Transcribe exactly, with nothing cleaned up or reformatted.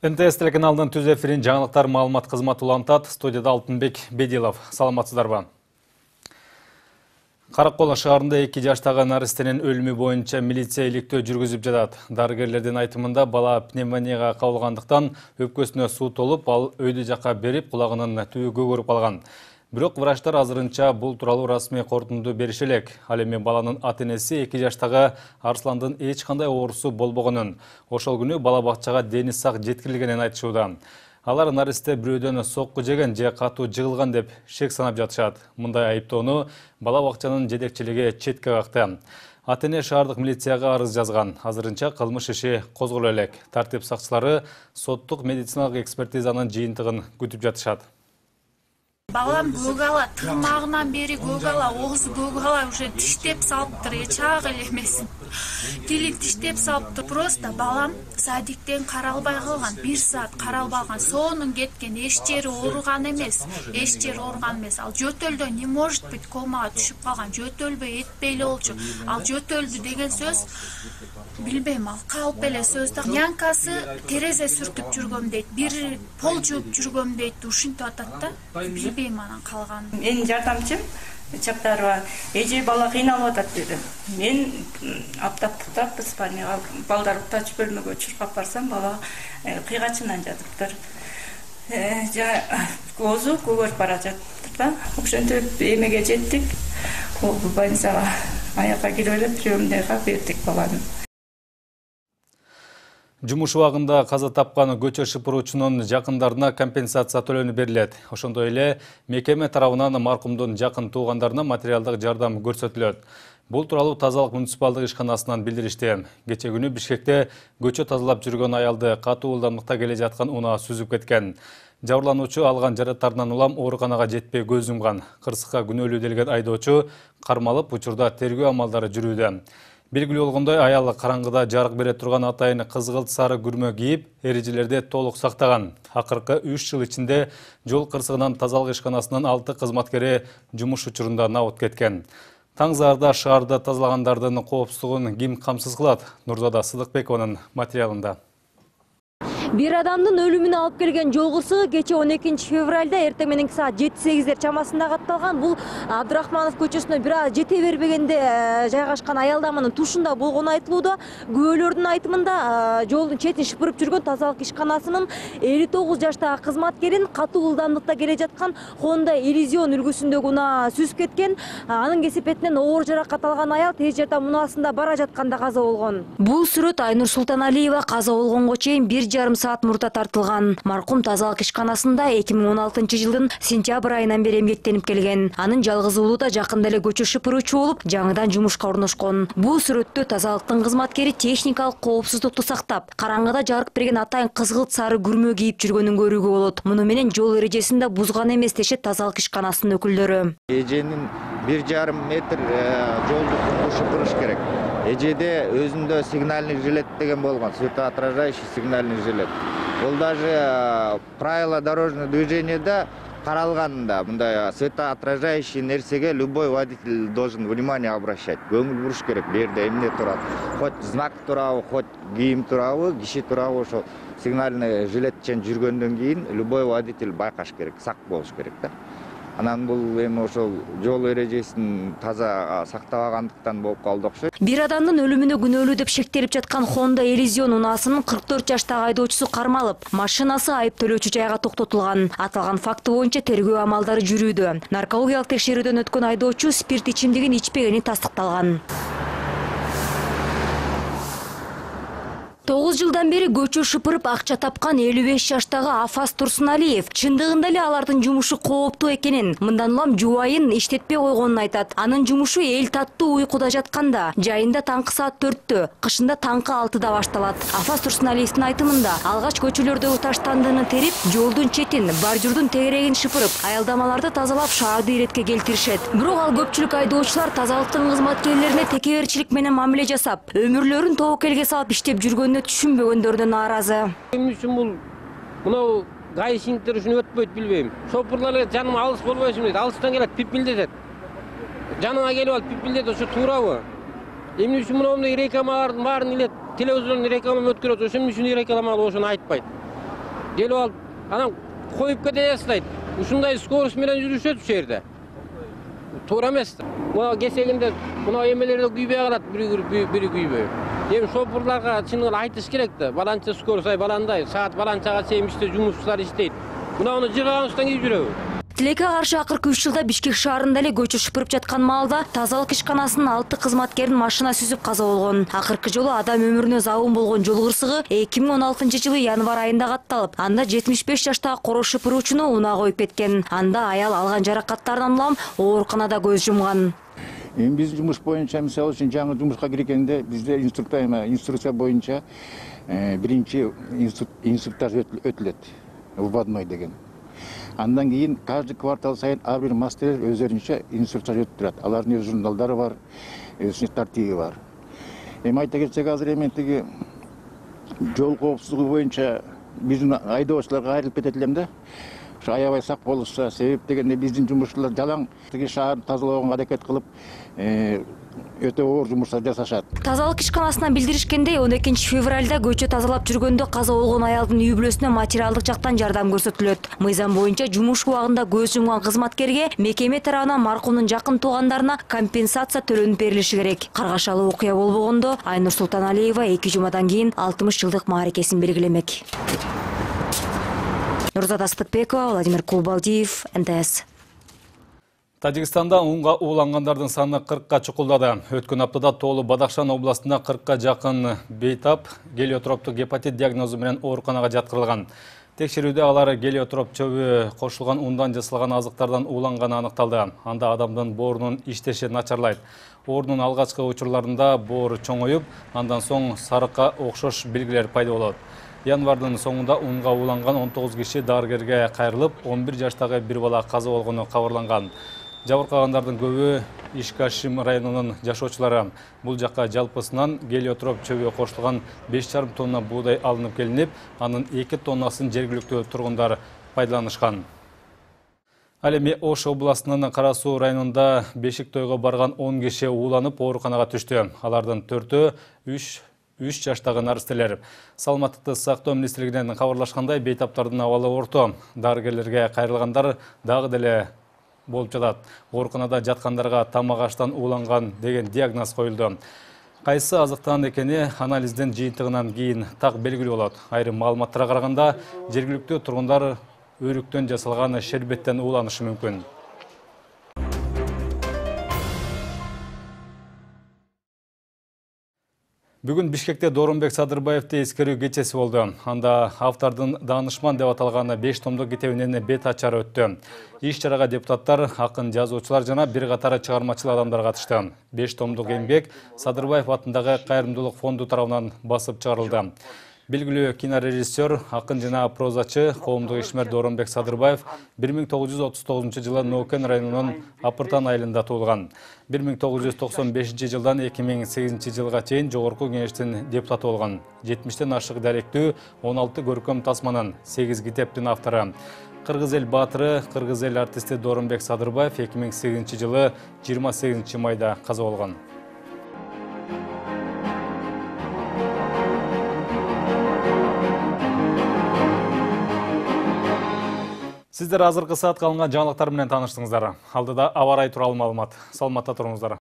эн тэ эс телеканалынын түз эфирин жаңылыктар маалымат кызматы улантат. Студияда Алтынбек Бедилов. Саламатсыздарбы? Каракол шаарында эки жаштагы наристенин өлүмү боюнча милиция иликтөө жүргүзүп жатат. Дарыгерлердин айтымында бала пневмонияга кабылгандыктан өпкөсүнө суу толуп, ал өйдө жакка берип, кулагынын түбү көгөрүп калган. Бирок врачтар азырынча бул тууралуу расмий корутунду бериши элек. Ал эми баланын ата-энеси эки жаштагы Арсландын эч кандай оорусу болбогонун, ошол күнү бала бакчага дени сак жеткирилгенин айтышууда. Алар наристе бирөөдөн сокку жеген же катуу жыгылган деп шек санап жатышат. Мындай айыптоону бала бакчанын жетекчилиги четке какты. Ата-эне шаардык милицияга арыз жазган. Азырынча кылмыш иши козголо элек. Тартип сакчылары соттук медициналык экспертизанын жыйынтыгын күтүп жатышат. Балам көгала, тырмагынан бери көгала, оозу көгала, уже тиштеп салыптыр, эчак эле эмес. Тилин тиштеп салыптыр. Просто балам садиктен каралбай калган, бир саат каралбаган, соонун кеткен, эч жери ооруган эмес, эч жери ооруган эмес. Ал жөтөлдө не может быть комага түшүп калган, жөтөлбөй этпей эле болчу. Ал жөтөлдү деген сөз билбейм, ал калп эле сөз да. Нянкасы терезе сүртүп жүргөм дейт, бир пол жууп жүргөм дейт, ушинтип атат да. Билбейм анан калганын. Менин жардамчым Чаптарова эже бала кыйналып атат деди. Мен аптаптыктап Испанияга балдар уктач бөлмөгө чуркап барсам, бала кыйгачынан жатыптыр. Жа оозу көгөрүп бара жатыптыр да. Ошентип эмеге жеттик. Ол больницага аякка кирип эле приемныйга бердик баланы. Жумуш убагында каза тапкан көчө шыпыруучунун жакындарына компенсация төлөнүп берилет. Ошондой эле мекеме тарабынан маркумдун жакын туугандарына материалдык жардам көрсөтүлөт. Бул тууралуу тазалык муниципалдык ишканасынан билдиришти. Кече күнү Бишкекте көчө тазалап жүргөн аялды катуу ылдамдыкта келе жаткан унаа сүзүп кеткен. Жабырлануучу алган жараттарынан улам ооруканага жетпей көз жумган. Кырсыкка күнөөлүү делген айдоочу кармалып, учурда тергөө амалдары жүрүүдө. Белгилүү болгондой, аял караңгыда жарык бере турган атайын кызгылт сары күрмө кийип, эрежелерди толук сактаган. Акыркы үч жыл ичинде жол кырсыгынан тазалык ишканасынын алты кызматкери жумуш учурунда набыт кеткен. Таң заарда шаарды тазалагандардын коопсуздугун ким камсыз кылат? Нурзада Сыдыкбекованын материалында. Бир адамдын өлүмүнө алып келген жол кырсыгы кече он экинчи февралда эртең мененки саат жети сегиздер чамасында катталган. Бул Абдурахманов көчөсүнө бир аз жете бербегенде жайгашкан аялдаманын тушунда болгону айтылууда. Күбөлөрдүн айтымында жолдун четин шыпырып жүргөн тазалык ишканасынын элүү тогуз жаштагы кызматкерин катуу ылдамдыкта келе жаткан Honda Elysion үлгүсүндөгү унаа сүзүп кеткен. Анын кесепетинен оор жаракат алган аял тез жардам унаасында бара жатканда каза болгон. Бул сүрөт Айнур Султаналиева каза болгонго чейин бир жарым саат мурда тартылган. Маркум тазалык ишканасында эки миң он алтынчы жылдын сентябрь айынан бери эмгектенип келген. Анын жалгыз уулу да жакында эле көчө шыпыруучу болуп, жаңыдан жумушка орношкон. Бул сүрөттө тазалыктын кызматкери техникалык коопсуздукту сактап, караңгыда жарык берген атайын кызгылт сары күрмө кийип жүргөнүн көрүүгө болот. Муну менен жол эрежесин да бузган эмес дешет тазалык ишканасынын өкүлдөрү. Эженин бир жарым метр жолду шыпырыш керек. Эжеде өзүндө сигнальный жилет деген болгон, светоотражающий сигнальный жилет. Бул даже правила дорожного движения каралганда мындай светоотражающий нерсеге любой водитель должен внимание обращать. Көңүл буруш керек, бул жерде эмне турат. Хоть знак турабы, хоть кийим турабы, киши турабы, ошо сигнальный жилетчен жүргөндөн кийин любой водитель байкаш керек, сак болуш керек да. Анан бул эми ошол жол эрежесин таза сактабагандыктан болуп калды окшойт. Бир адамдын өлүмүнө күнөөлүү деп шектелип жаткан Honda Elysion унаасынын кырк төрт жаштагы айдоочусу кармалып, машинасы айып төлөөчү жайга токтотулган. Аталган факты боюнча тергөө амалдары жүрүүдө. Наркологиялык текшерүүдөн өткөн айдоочу спирт ичимдигин ичпегени тастыкталган. тогуз жылдан бери көчө шыпырып акча тапкан элүү беш жаштагы Афас Турсуналиев чындыгында эле алардын жумушу кооптуу экенин, мындан улам жубайын иштетпей койгонун айтат. Анын жумушу эл таттуу уйкуда жатканда, жайында таңкы саат төрттө, кышында таңкы алтыда башталат. Афас Турсуналиевдин айтымында, алгач көчөлөрдөгү таштандыны терип, жолдун четин, баржурдун тегерегин шыпырып, аялдамаларды тазалап шаарды иретке келтиришет. Бирок ал көпчүлүк айдоочулар тазалыктын кызматкерлерине текеберчилик менен мамиле жасап, өмүрлөрүн тобокелге салып иштеп жүргөнүнө түшүнбөгөндөрдөн нааразы. Эмне үчүн бул мынау гаишниктер үчүн өтпөйт билбейм. Шопурлар жаным алыс болбойсун дейт. Алыстан келет, пипилдетет. Жаныңа келип алып пипилдетет, ошо туурабы? Эмне үчүн мындай рекламалардын баарын эле телевизордон реклама өткөрөт, ошон үчүн рекламалар ошону айтпайт. келип алып анан коюп кете жаздайт. Ушундай скорость менен жүрүшөт ушул жерде. Туура эмес. Мына кесегинде мына эмелерде күйбөй калат, бири бири күйбөй. Эми шопурларга чынын айтыш керек да. Баланча скорость ай баландай, саат баланчага чейин иште жумушчулар иштейт. Мына аны жыргаганыбыздан кийин жүрөбүз. Тилекке каршы акыркы үч жылда Бишкек шаарында эле көчө шыпырып жаткан маалда тазалык ишканасынын алты кызматкерин машина сүзүп каза болгон. Акыркы жолу адам өмүрүнө забын болгон жол кырсыгы эки миң он алтынчы жылы январь айында катталып, анда жетимиш беш жаштагы корош шыпыруучуну унаа коюп кеткен. Анда аял алган жаракаттарынан улам ооруканада көз жумган. Эми биздин жумуш боюнча, мисалы үчүн жаңы жумушка киргенде бизде инструкция боюнча биринчи инструктаж өтүлөт. Вводной деген. Андан кийин каждый квартал сайын ар бир мастер өздөрүнчө инструкция өтүп турат. Алардын өз журналдары бар, өзүнүн тартиби бар. Эми айта кетсек, азыр эми тиги жол коопсуздугу боюнча биздин айдоочуларга кайрылып кетет элем да. Ошо аябай сак болушса, себеп дегенде биздин жумушчулар жалаң тиги шаарды тазалоого аракет кылып, өтө оор жумуштар жасашат. Тазалык ишканасынан билдиришкендей, он экинчи февралда көчө тазалап жүргөндө каза болгон аялдын үй бүлөсүнө материалдык жактан жардам көрсөтүлөт. Мыйзам боюнча жумуш убагында көз жумган кызматкерге мекеме тарабынан маркумдун жакын туугандарына компенсация төлөнүп берилиши керек. Каргашалуу окуя болбогондо Айнур Султаналиева эки жумадан кийин алтымыш жылдык мааракесин белгилемек. Нурзат Астыкбекова, Владимир Кулбалдиев, эн тэ эс. Тажикстанда унга уулангандардын саны кыркка чукулдады. Өткөн аптада Тоолу Бадахшан областында кыркка жакын бейтап гелиотроптук гепатит диагнозу менен ооруканага жаткырылган. Текшерүүдө алар гелиотроп чөбү кошулган ундан жасалган азыктардан ууланганы аныкталды. Анда адамдын боорунун иштеши начарлайт. Оорунун алгачкы учурларында боор чоңоюп, андан соң сарыкка окшош белгилер пайда болот. Январдын соңунда унга ууланган он тогуз киши дарыгерге кайрылып, он бир жаштагы бир бала каза болгону кабарланган. Жабыркагандардын көбү Ишкашим районунун жашоочулары. Бул жакка жалпысынан гелиотроп чөбү кошулган беш жарым тонна буудай алынып келинип, анын эки тоннасын жергиликтүү тургундар пайдаланышкан. Ал эми Ош областынын Кара Суу районунда бешик тойго барган он киши ууланып ооруканага түштү. Алардын төртөө үч үч жаштагы наристелер. Саламаттыкты сактоо министрлигинен кабарлашкандай, бейтаптардын абалы орто. Дарыгерлерге кайрылгандар дагы деле болуп жатат. Ооруканада жаткандарга тамак аштан ууланган деген диагноз коюлду. Кайсы азыктан экени анализдин жыйынтыгынан кийин так белгилүү болот. Айрым маалыматтарга караганда, жергиликтүү тургундар өрүктөн жасалган шербеттен ууланышы мүмкүн. Бүгүн Бишкекте Дооронбек Садырбаевди эскерүү кечеси болду. Анда автордун даанышман деп аталган беш томдук китебинин бет ачары өттү. Иш-чарага депутаттар, акын, жазуучулар жана бир катар чыгармачыл адамдар катышты. беш томдук эмгек Садырбаев атындагы кайрымдуулук фонду тарабынан басып чыгарылды. Белгилүү кинорежиссер, акын жана прозачы, коомдук ишмер Дооронбек Садырбаев бир миң тогуз жүз отуз тогузунчу жылы Нокен районунун Апыртан айылында туулган. бир миң тогуз жүз токсон бешинчи жылдан эки миң сегизинчи жылга чейин Жогорку кеңештин депутаты болгон. жетимиштен ашык даректүү он алты көркөм тасманын, сегиз китептин автору. Кыргыз эл баатыры, кыргыз эл артисти Дооронбек Садырбаев эки миң сегизинчи жылы жыйырма сегизинчи майда каза болгон. Сиздер азыркы саатка алынган жаңылыктар менен тааныштыңыздар. Алдыда аба ырайы тууралуу маалымат. Саламатта туруңуздар.